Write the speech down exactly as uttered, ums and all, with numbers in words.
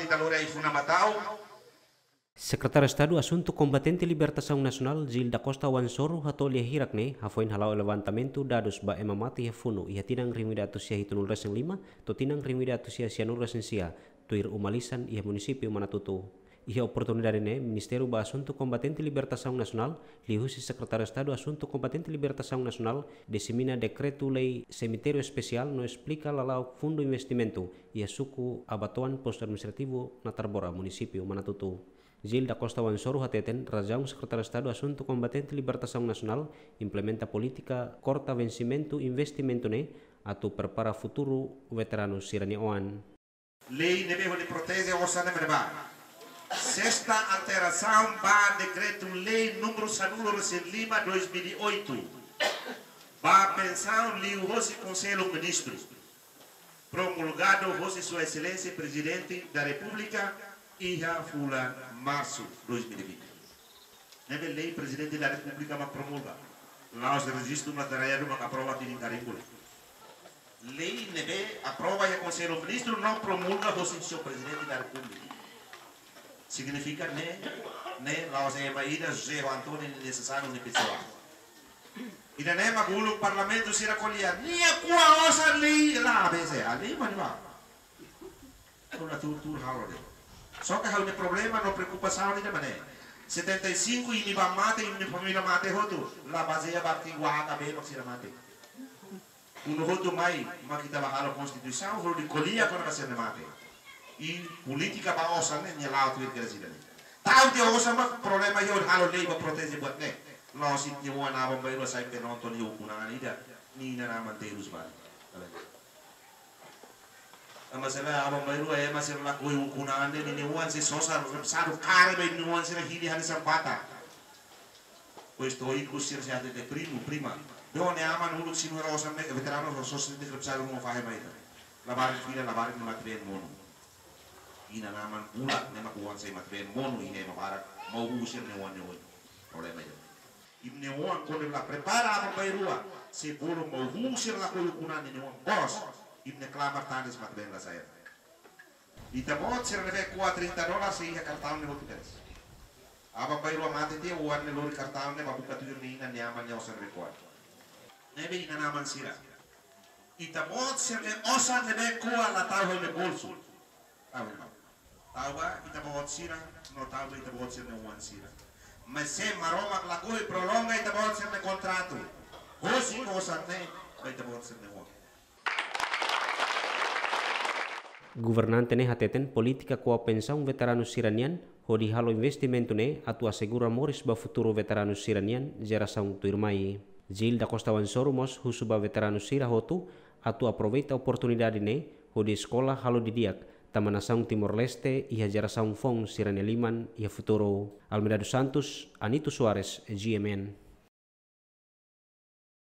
Ita lori ai-funan ba tau. Sekretáriu Estadu Asuntu Kombatente Libertasaun Nasionál, Gil da Costa Wansoru, hato'o lia hirak ne'e, hafoin hala'o levantamentu dadus ba ema mate iha funu iha tinan rihun ida atus sia hitunulu resin lima to'o tinan rihun ida atus sia sianulu resin sia, tuir uma lisan iha munisípiu Manatuto. Iha oportunidade ne'e, Ministériu ba Asuntu Kombatente Libertasaun Nasionál, liuhusi Sekretáriu Estadu Asuntu Kombatente Libertasaun Nasionál, disemina dekretu-lei semitériu espesiál no esplika lala'ok fundu investimentu iha suku Abatoan, Postu Administrativu Natarbora, munisípiu Manatuto. Gil da Costa Wansoru hateten, razaun Sekretáriu Estadu Asuntu Kombatente Libertasaun Nasionál implementa polítika korta vensimentu investimentu ne'e atu prepara futuru veteranu sira-nia oan. Lei ne'ebé hodi proteje osan ne'e ba. Sesta alterasaun ba Dekretu-Lei númeru sanulu resin lima dois mil e oito, ba pensaun liuhosi Konsellu Ministru, promulgadu hosi Sua Exelénsia Prezidente da Repúblika iha fulan Marsu dois mil e vinte. Ne'ebé lei Prezidente da Repúblika mak promulga. La'ós rejistu mak taraia duma aprova tiha iha karimbu. Lei ne'ebé aprova iha Konsellu Ministru no promulga hosi Señór Prezidente da Repúblika. Signifika ne'e, ne'e la'ós ema ida José António nia nesesáriu nia pesoál. Ida-ne'e mak uluk parlamentu sira ko'alia, nia ko'a osan lei la, A B C, a lei mani ba. Atu la tuur-tuur halo de'it. Só ke ha'u-nia problema no preokupasaun ida-ne'e mak ne'e. Setenta e cinco imi ba mate, imi família mate hotu. La bazeia ba artigu A ka B mak sira mate. Kuandu hotu mai, mak ita ba halo konstituisaun, hodi ko'alia kona-ba sira-ne'e mate. I polítika ba osan ne'e, nia la'o tuir kera sira-ne'e. Ta'uk tiha osan mak problema iha hodi halo lei ba proteje buat ne'e. La'ós ita-nia oan aban-bainrua sai penonton iha ukun-an ida. Nia inan-aman terus balik. Tanba sá aban-bainrua ema sira lakohi ukun-an ne'e, ninia oan sei sosa, sadu kare ba ninia oan sira hili hanesan bata. Depois to'o ikus sira sei hatete primu, prima. Be ó-nia aman uluk sira-nia osan ne'e, veteranu sosa, sosa sei hatete primu, fahe mai ita. Labarik fila, labarik ne'e mate-been monu. Inan-aman bulak ne'e mak oan sei mate-been monu, iha ema barak, mau husu sira-nia oan ne'e oin. Problema ida. Imi-nia oan kuandu la prepara aban-bainrua, sei bolu mau husu sira lakohi ukun-an ninia oan bos, imi-nia klamar tanis mate-been la sa'e. Ita-boot sira ne'ebé ko'a trinta dólar sei iha kartaun ne'e hotu kedas. Aban-bainrua mate tiha, oan ne'e lori kartaun ne'e ba buka tuir nia inan, nia aman nia osan ne'ebé ko'a. Ne'ebé inan-aman sira. Ita-boot sira-nia osan ne'ebé ko'a la tau iha imi-nia bolsu. Tau iha imi-nia. Tau ba ita-boot sira, no tau ba ita-boot sira-nia oan sira. Maibé Maromak lakohi prolonga ita-boot sira-nia kontratu. Husik osan ne'e ba ita-boot sira-nia oan. Governante ne'e hateten polítika ko'a pensaun veteranu sira-nian, hodi halo investimentu ne'e atu asegura moris ba futuru veteranu sira-nian jerasaun tuirmai. Gil da Costa Wansoru mós husu ba veteranu sira hotu atu aproveita oportunidade ne'e hodi eskola halo didi'ak, tanba nasaun Timor-Leste iha jerasaun foun sira-nia liman iha futuru. Almeida dos Santos, Anito Soares, G M N.